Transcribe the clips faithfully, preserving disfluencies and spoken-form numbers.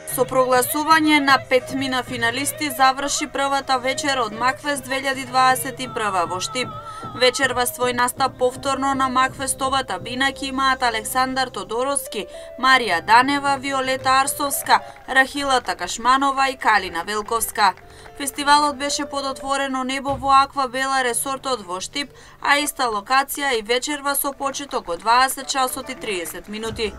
Со прогласување на петмина финалисти заврши првата вечер од Макфест две илјади дваесет и прва во Штип. Вечерва свој настап повторно на Макфестовата бина ќе имаат Александар Тодоровски, Марија Данева, Виолета Арсовска, Рахила Такашманова и Калина Велковска. Фестивалот беше под отворено небо во Аква Бела ресортот во Штип, а иста локација и вечерва со почеток од дваесет часот и триесет минути.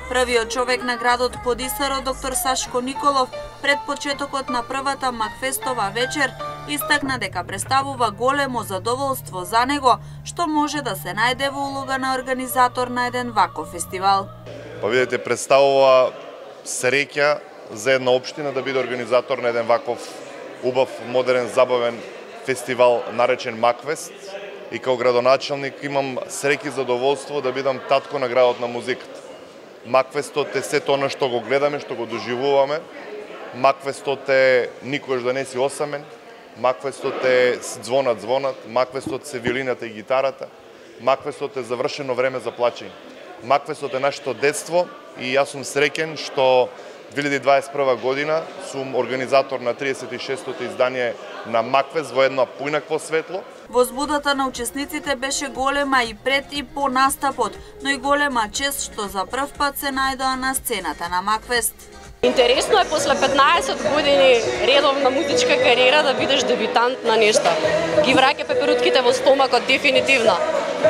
Првиот човек на градот Подисаро, доктор Сашко Николов, пред почетокот на првата Макфестова вечер, истакна дека представува големо задоволство за него, што може да се најде во улога на организатор на еден ваков фестивал. Па видите, представува среќа за една општина да биде организатор на еден ваков убав, модерен, забавен фестивал наречен Макфест. И као градоначалник имам среќа и задоволство да бидам татко на градот на музиката. Макфестот е сето она што го гледаме, што го доживуваме. Макфестот е никогаш да не си осамен. Макфестот е звонат звонат. Макфестот се виолината и гитарата. Макфестот е завршено време за плачење. Макфестот е нашето детство и јас сум среќен што две илјади дваесет и прва година сум организатор на триесет и шестото издание на Макфест во едно поинакво светло. Возбудата на учесниците беше голема и пред и по настапот, но и голема чест што за прв пат се најдоа на сцената на Макфест. Интересно е после петнаесет години редовна музичка кариера да бидеш дебютант на нешто. Ги враќа пеперутките во стомакот дефинитивно.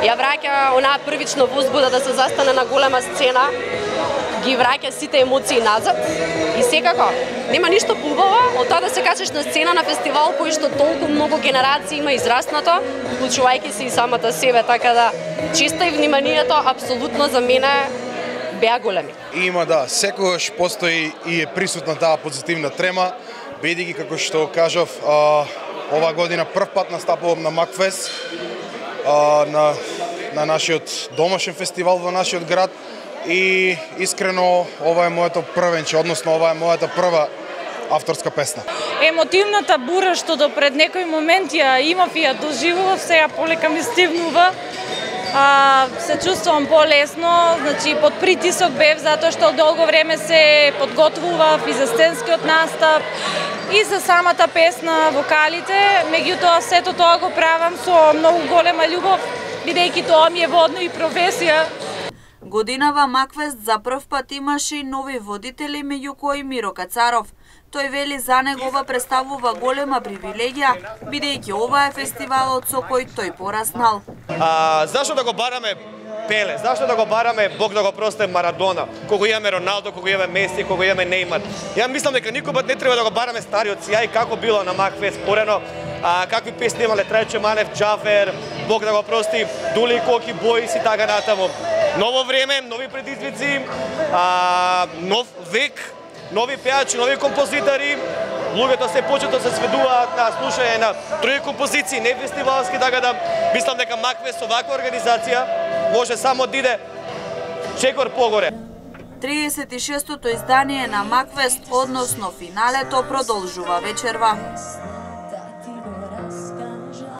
Ја враќа онаа првична возбуда да се застане на голема сцена, ги враќа сите емоции назад и секако нема ништо поубаво од тоа да се качиш на сцена на фестивал кој што толку многу генерации има израснато, вклучувајќи се и самата себе, така да честа и вниманието апсолутно за мене беа големи. Има, да, секогаш постои и е присутна таа позитивна трема, бидејќи како што кажав, а, ова година прв пат настапувам на Макфест, а, на на нашиот домашен фестивал во нашиот град и искрено ова е моето првенче, односно ова е мојата прва авторска песна. Емотивната бура што до пред некој момент ја имав и ја доживував, сега полека ми стивнува. А, се чувствувам полесно, значи под притисок бев затоа што долго време се подготвував и за сценскиот настап и за самата песна, вокалите, меѓутоа сето тоа го правам со многу голема љубов, бидејќи тоа ми е водно и професија. Годинава Макфест за прв пат имаше и нови водители, меѓу кои Миро Кацаров. Тој вели за него ова представува голема привилегија, бидејќи ова е фестивалот со кој тој пораснал. А, зашто да го бараме Пеле? Зашто да го бараме, Бог да го прости, Марадона? Кога имаме Роналдо, кога имаме Меси, кога имаме Неймар. Ја мислам дека никога не треба да го бараме стариот сјај како било на Макфест порено. А, какви песни имале Трајче Манев, Џафер, Бог да го прости, Дули Коки, Бојс и така натаму. Ново време, нови предизвици, а, нов век, нови пеачи, нови композитори. Луѓето се почето се сведуваат на слушање на други композиции, не фестивалски, така да мислам дека Макфест со ваква организација може само да иде чекор погоре. триесет и шестото издание на Макфест, односно финалето, продолжува вечерва.